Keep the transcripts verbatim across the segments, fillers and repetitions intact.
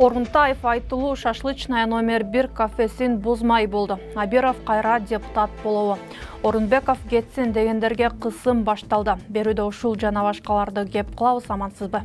Орунтаев айтылуу шашлычная номер бир кафесин бузмай болду. Абиров кайра депутат болобу. Орунбеков кетсин дегендерге кысым башталды. Берүүдө ушул жана башкаларды кеп кылабыз, амансызбы?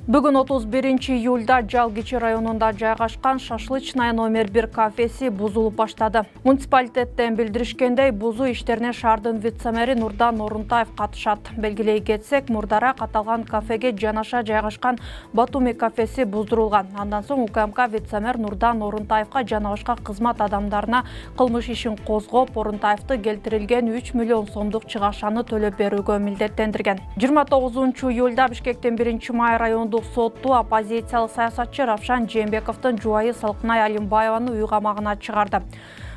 Бүгүн отуз биринчи июлда Жалгичи районунда жайгашкан шашлычная номер бир кафеси бузулуп баштады. Муниципалитеттен билдиришкендей, бузуу иштерине шаардын вице-мэри Нурдан Орунтаев катышат. Белгилей кетсек, мурдара каталган кафеге жанаша жайгашкан Батуми кафеси буздурулган. Андан соң УКМК вице-мэр Нурдан Орунтаевка жана башка кызмат адамдарына кылмыш ишин козгоп, Орунтаевди келтирилген үч миллион сомдук чыгашаны төлөп берүүгө милдеттендирген. жыйырма тогузунчу июлда Бишкектин биринчи май райондук сотту оппозициялык саясатчы Равшан Жээнбековдун жубайы Салкынай Алимбаеваны үй камагына чыгарды.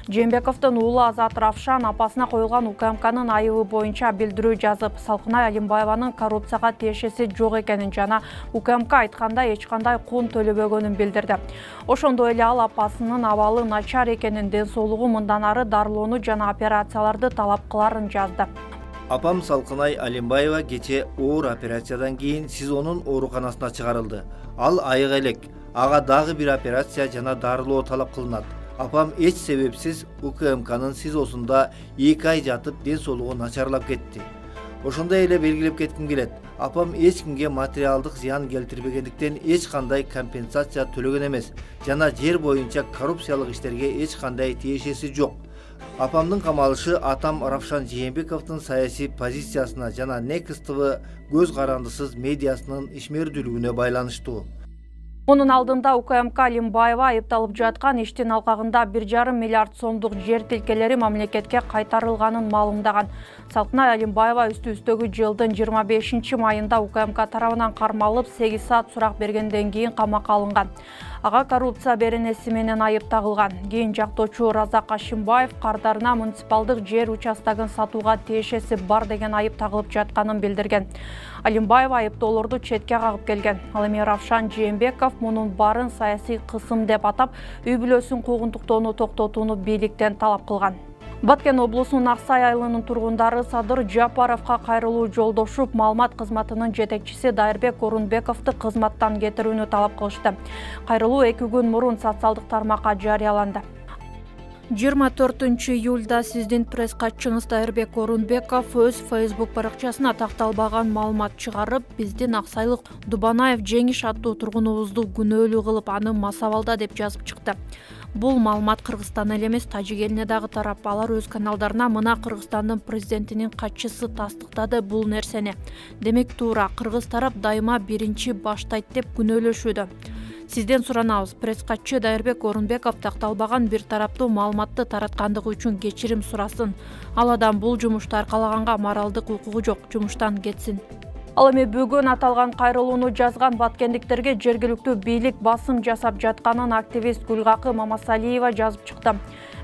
Жээнбековдун уулу Азат Равшан апасына коюлган УКМКнын айыбы боюнча билдирүү жазып, Салкынай Алимбаеванын коррупцияга тиешеси жок экенин жана УКМК айткандай эч кандай кун төлөбөгөнүн билдирди. Ошондой эле ал апасынын абалы начар экенин, ден соолугу мындан ары дарылоону жана операцияларды талап кыларын жазды. Апам Салкынай Алимбаева кече оор операциядан кийин СИЗОнун ооруканасына чыгарылды. Ал айык элек. Ага дагы бир операция жана дарылоо талап кылынат. Апам эч себепсиз УКМКнын СИЗОсунда эки ай жатып, ден соолугу начарлап кетти. Ошондой эле белгилеп кетким келет. Апам эч кимге материалдык зыян келтирбегендиктен эч кандай компенсация төлөгөн эмес жана жер боюнча коррупциялык иштерге эч кандай тиешеси жок. Апамдын камалышы атам Равшан Жээнбековдун саясий позициясына жана Next тэ вэ көз карандысыз медиасынын ишмердүүлүгүнө байланыштуу. Мунун алдында УКМК Алимбаева айыпталып жаткан иштин алкагында бир жарым миллиард сомдук жер тилкелери мамлекетке кайтарылганын маалымдаган. Салкынай Алимбаева үстү-үстөгү жылдын жыйырма бешинчи майында УКМК тарабынан кармалып сегиз саат сурак бергенден кийин камакка алынган. Ага коррупция беренеси менен айып тагылган. Кийин жактоочу Разак Ашимбаев кардарына муниципалдык жер участогун сатууга тиешеси бар деген айып тагылып жатканын билдирген. Алимбаева айыптоолорду четке кагып келген. Ал эми Равшан Жээнбеков мунун баарын саясий кысым деп атап, үй бүлөсүн куугунтуктоону токтотууну бийликтен талап кылган. Баткен облусунун Аксай айылынын тургундары Садыр Жапаровго кайрылуу жолдошуп, маалымат кызматынын жетекчиси Дайырбек Орунбековду кызматтан кетирүүнү талап кылышты. Кайрылуу эки күн мурун социалдык тармакка жарыяланды. жыйырма төртүнчү июлда сиздин пресс-катчыңыз Дайырбек Орунбеков өз Facebook баракчасына такталбаган маалымат чыгарып, биздин аксайлык Дубанаев Жеңиш аттуу тургунубузду күнөөлүү кылып, аны масабалда деп жазып чыкты. Бул маалымат Кыргызстан эле эмес, Тажик элине дагы тарап. Алар өз каналдарына мына Кыргызстандын президентинин катчысы тастыктады бул нерсени. Демек туура, кыргыз тарап дайыма биринчи баштайт деп күнөөлөшүүдө. Сизден суранабыз, пресс-катчы Дайырбек Орунбеков такталбаган бир тараптуу маалыматты тараткандыгы үчүн кечирим сурасын. Ал адам бул жумушту аркалаганга моралдык укугу жок, жумуштан кетсин. Ал эми бүгүн аталган кайрылууну жазган баткендиктерге жергиликтүү бийлик басым жасап жатканын активист Гүлгакы Мамасалиева жазып чыкты.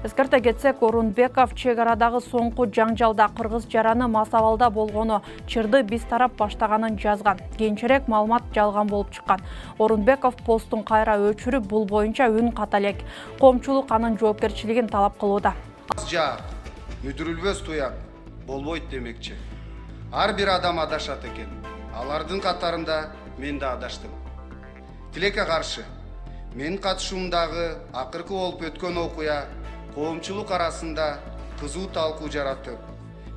Эскерте кетсек, Орунбеков чек арадагы соңку жаңжалда кыргыз жараны масабалда болгону, чырды биз тарап баштаганын жазган. Кийинчерээк маалымат жалган болуп чыккан. Орунбеков постун кайра өчүрүп, бул боюнча үн ката элек. Коомчулук анын жоопкерчилигин талап кылууда. Жак, мүдүрүлбөс туяк болбойт демекчи. Ар бир адам адашат экен. Алардын катарында мен да адаштым. Тилекке каршы, менин катышуумдагы акыркы болуп өткөн окуя коомчулук арасында кызуу талкуу жаратып,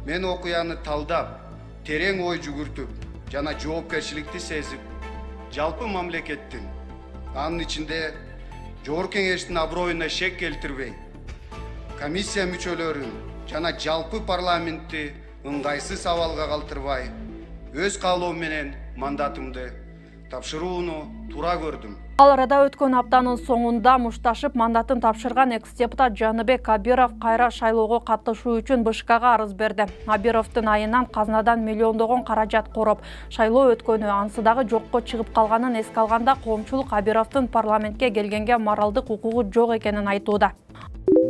мен окуяны талдап, терең ой жүгүртүп жана жоопкерчиликти сезип, жалпы мамлекеттин, анын ичинде Жогорку Кеңештин аброюна шек келтирбей, комиссия мүчөлөрүн жана жалпы парламентти ыңгайсыз абалга калтырбай, өз каалоом менен мандатымды тапшырууну туура көрдүм. Ал арада өткөн аптанын соңунда мушташып мандатын тапшырган экс-депутат Жаныбек Абиров кайра шайлоого катышуу үчүн бэ ш кга арыз берди. Абировдун айынан казнадан миллиондогон каражат короп, шайлоо өткөнү, ансы дагы жокко чыгып калганын эске алганда, коомчулук Абировдун парламентке келгенге моралдык укугу жок экенин айтууда.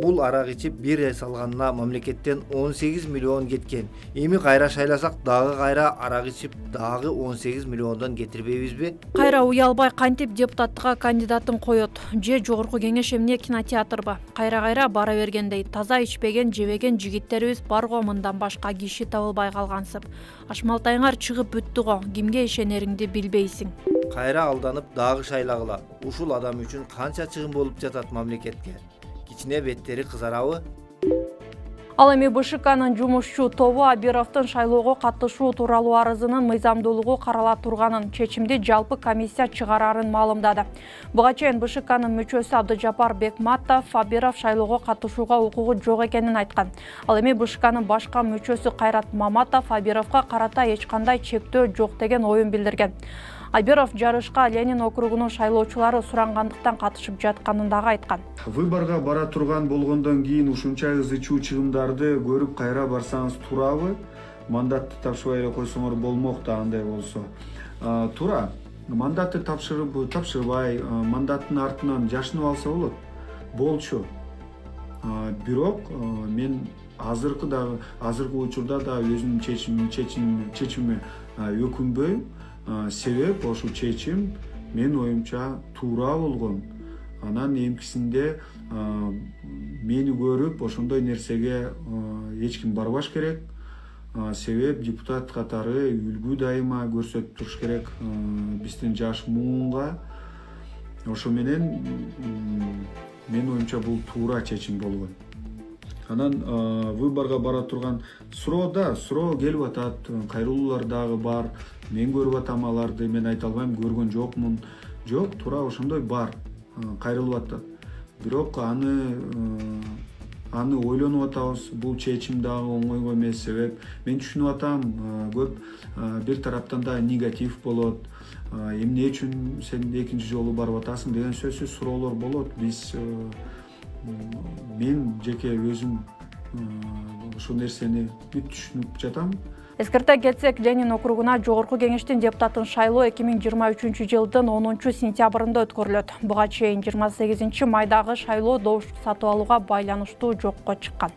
Бул арак ичип бир ай салганына мамлекеттен он сегиз миллион кеткен. Эми кайра шайласак дагы кайра арак ичип дагы он сегиз миллиондон кетирбейбизби? Кайра уялбай кантип депутаттыкка кандидатын коет? Же Жогорку Кеңеш эмне кинотеатрбы? Кайра-кайра бара бергендей, таза ичпеген, жебеген жигиттерибиз бар го, мындан башка киши табылбай калгансып. Ашмалтайыңар чыгып бүттү го, кимге ишенериңди билбейсиң. кайра алданып дагы шайлагыла. Ушул адам үчүн канча чыгым болуп жатат мамлекетке? Кичине беттери кызарабы? Ал эми БШКнын жумушчу тобу Абировдун шайлоого катышуу тууралуу арызынын мыйзамдуулугу карала турганын, чечимди жалпы комиссия чыгарарын маалымдады. Буга чейин БШКнын мүчөсү Абдыжапар Бекматов Абиров шайлоого катышууга укугу жок экенин айткан. Ал эми БШКнын башка мүчөсү Кайрат Маматов Абировго карата эч кандай чектөө жок деген оюн билдирген. Абиров жарышка Ленин округунун шайлоочулары сурангандыктан катышып жатканын дагы айткан. Выборго бара турган болгондон кийин ушунча ыз ичүү чыгымдарды көрүп кайра барсаңыз туурабы? Мандатты тапшырбай эле койсоңор болмок да андай болсо. Туура. Мандатты тапшырып, тапшырбай, мандаттын артынан жашынып алса болот. Болчу. Бирок мен азыркы дагы азыркы учурда да өзүмдүн чечимим чечимим чечимиме өкүнбөйм. Себеп ошол чечим мен оюмча туура болгон. Анан эмкисинде мени көрүп ошондой нерсеге эч ким барбаш керек. Себеп депутат катары үлгү дайыма көрсөтүп туруш керек биздин жаш муунга. Ошо менен мен оюмча бул туура чечим болгон. Анан выборго бара турган суроо да, суроо келип атат, кайрылуулар дагы бар. Мен көрүп атам аларды, мен айта албайм, көргөн жокмун. Жок, туура ошондой бар, кайрылып атат. Бирок аны аны ойлонуп атабыз. Бул чечим дагы оңойго эмес, себеп мен түшүнүп атам, көп бир тараптан да негатив болот. Эмне үчүн сен экинчи жолу барып атасың деген сөзсүз суроолор болот. Биз мен жеке өзүм ошол нерсени бүт түшүнүп жатам. Эскерте кетсек, Ленин округуна жогорку кеңештин депутатын шайлоо эки миң жыйырма үчүнчү жылдын онунчу сентябрында өткөрүлөт. Буга чейин жыйырма сегизинчи майдагы шайлоо добуш сатып алууга байланыштуу жокко чыккан.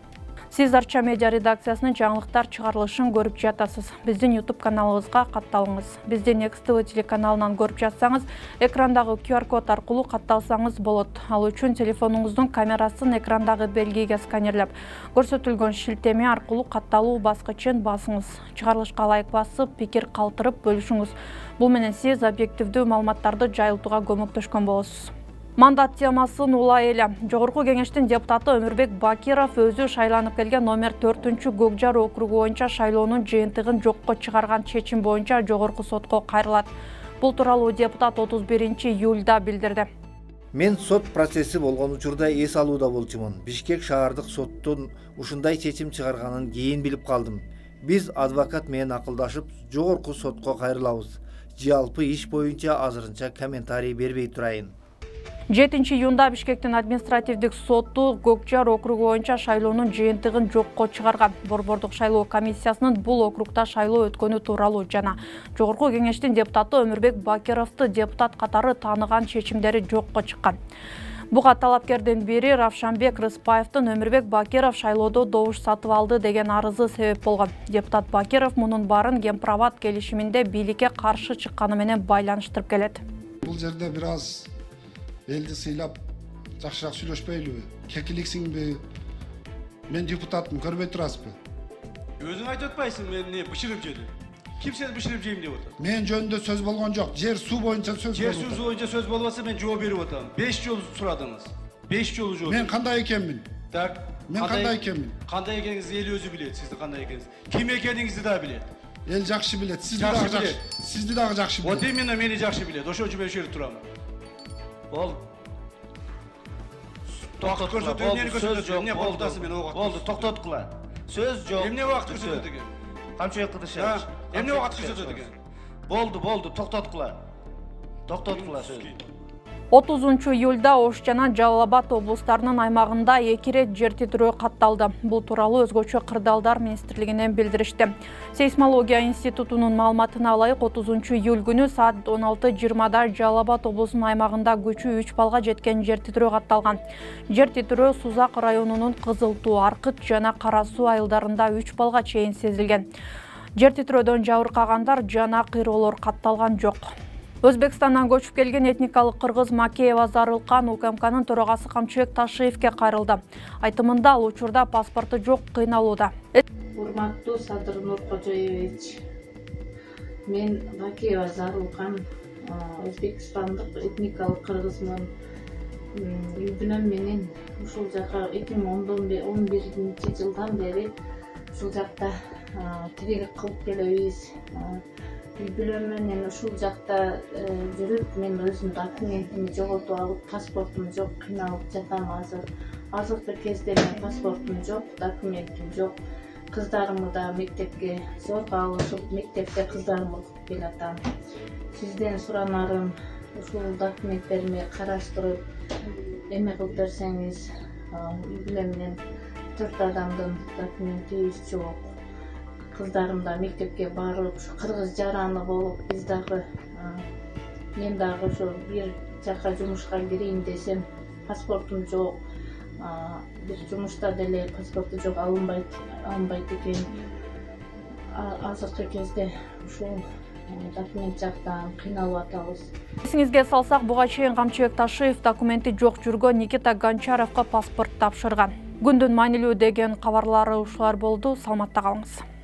Сиз Арча медиа редакциясынын жаңылыктар чыгарылышын көрүп жатасыз. Биздин YouTube каналыбызга катталыңыз. Биздин Next ти ви телеканалынан көрүп жатсаңыз, экрандагы ку ар код аркылуу катталсаңыз болот. Ал үчүн телефонуңуздун камерасын экрандагы белгиге сканерлеп, көрсөтүлгөн шилтеме аркылуу катталуу баскычын басыңыз. Чыгарылышка лайк басып, пикир калтырып бөлүшүңүз. Бул менен сиз объективдүү маалыматтарды жайылтууга көмөктөшкөн болосуз. Мандат темасын улай эле. Жогорку кеңештин депутаты Өмүрбек Бакиров өзү шайланып келген номер төртүнчү Көкжар округу боюнча шайлоонун жыйынтыгын жокко чыгарган чечим боюнча жогорку сотко кайрылат. Бул тууралуу депутат отуз биринчи июлда билдирди. Мен сот процесси болгон учурда эс алууда болчумун. Бишкек шаардык соттун ушундай чечим чыгарганын кийин билип калдым. Биз адвокат менен акылдашып, жогорку сотко кайрылабыз. Жалпы иш боюнча азырынча комментарий бербей турайын. жетинчи июнда Бишкектин административдик соту Көкжар округу боюнча шайлоонун жыйынтыгын жокко чыгарган. Борбордук шайлоо комиссиясынын бул округда шайлоо өткөнү тууралуу жана жогорку кеңештин депутаты Өмүрбек Бакировду депутат катары тааныган чечимдери жокко чыккан. Буга талапкердин бири Равшанбек Рыспаевдин Өмүрбек Бакиров шайлоодо добуш сатып алды деген арызы себеп болгон. Депутат Бакиров мунун баарын Гемпроват келишиминде бийликке каршы чыкканы менен байланыштырып келет. Бул жерде бир аз элди сыйлап жакшыраак сүйлөшпөйлүбү? Кекиликсиңби? Мен депутатмын, көрбөй турасызбы? Өзүң айтып атпайсың, мен не бышырып жедим. Ким сени бышырып жейм деп атат? Мен жөнүндө сөз болгон жок. Жер суу боюнча сөз болду. Жер суу боюнча сөз болбосо мен жооп берип атам. беш жолу сурадыңыз. беш жолу жооп. Мен кандай экенмин? Так. Мен кандай экенмин? Кандай экениңизди эл өзү билет, сиздин кандай экениңизди. Ким экениңизди да билет. Эл жакшы билет, сизди дагы жакшы. Сизди дагы жакшы билет. Вот именно мени жакшы билет. Ошон үчүн мен ошол жерде турам. Бол. Токтот көрсөтүү, эмнени көрсөтөт? Эмне кооптасың мен ого? Болду, токтоткула. Сөз жок. Эмне убакыт көрсөтөт экен? Камчы кылышабыз. Эмне убакыт көрсөтөт экен? Болду, болду, токтоткула. Токтоткула сөз. отузунчу июлда Ош жана Жалал Абад облустарынын аймагында эки ирет жер титирөө катталды. Бул тууралуу өзгөчө кырдаалдар министрлигинен билдиришти. Сейсмология институтунун маалыматына ылайык отузунчу июль күнү саат он алты жыйырмада Жалал Абад облусунун аймагында күчү үч балга жеткен жер титирөө катталган. Жер титирөө Сузак районунун Кызыл Туу, Аркыт жана Кара Суу айылдарында үч балга чейин сезилген. Жер титирөөдөн жабыркагандар жана кыйроолор катталган жок. Өзбекстандан көчүп келген этникалык кыргыз Макеева Зарылкан УКМКнын төрагасы Камчыбек Ташиевке кайрылды. Айтымында ал учурда паспорту жок кыйналууда. Урматтуу Садыр Нуркожоевич, мен Макеева Зарылкан Өзбекстандык этникалык кыргызмын. Үй бүлөм менен ушул жака эки миң он биринчи жылдан бери ушул жакта тирилик кылып келебиз. Үй бүлөм менен ушул жакта жүрүп, мен өзүм документимди жоготуп алып, паспортум жок, кыйналып жатам азыр. Азыркы кезде мен паспортум жок, документим жок. Кыздарымды да мектепке зорго алышып, мектепте кыздарымды окуп келатам. Сизден суранарым, ушул документтеримди караштырып, эме кылып берсеңиз, үй бүлөм менен төрт адамдын документибиз жок. Кыздарым да мектепке барып, кыргыз жараны болуп, биз дагы, мен дагы ошо бир жака жумушка кирейин десем, паспортум жок. Бир жумушта деле паспорту жок, алынбайт, алынбайт экен. Азыркы кезде ушул документ жактан кыйналып атабыз. Эсиңизге салсак, буга чейин Камчыбек Ташиев документи жок жүргөн Никита Гончаровго паспорт тапшырган. Күндүн маанилүү деген кабарлары ушулар болду. Саламатта калыңыз.